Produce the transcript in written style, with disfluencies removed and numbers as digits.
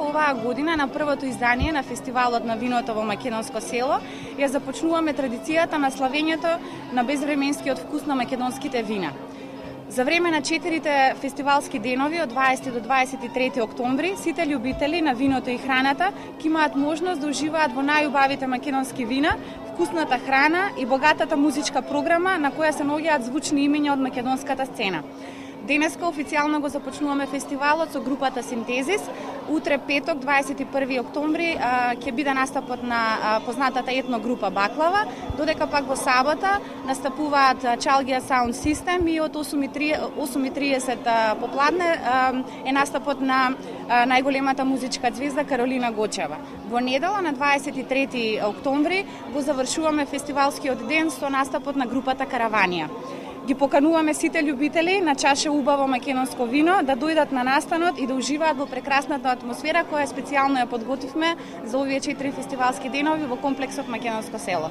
оваа година на првото издание на фестивалот на виното во Македонско село ја започнуваме традицијата на славењето на безвременскиот вкус на македонските вина. За време на 4 фестивалски денови од 20 до 23 октомври, сите љубители на виното и храната ќе имаат можност да уживаат во најубавите македонски вина, вкусната храна и богатата музичка програма на која се наоѓаат звучни имиња од македонската сцена. Денеска официјално го започнуваме фестивалот со групата Синтезис. Утре петок, 21 октомври, ќе биде настапот на познатата етно група Баклава, додека пак во сабота настапуваат Чалгија Sound System и од 8:30 попладне е настапот на најголемата музичка звезда Каролина Гочева. Во недела на 23 октомври го завршуваме фестивалскиот ден со настапот на групата Караванија. Ги покануваме сите љубители на чаша убаво македонско вино да дојдат на настанот и да уживаат во прекрасната атмосфера која специјално ја подготвивме за овие 4 фестивалски денови во комплексот Македонско село.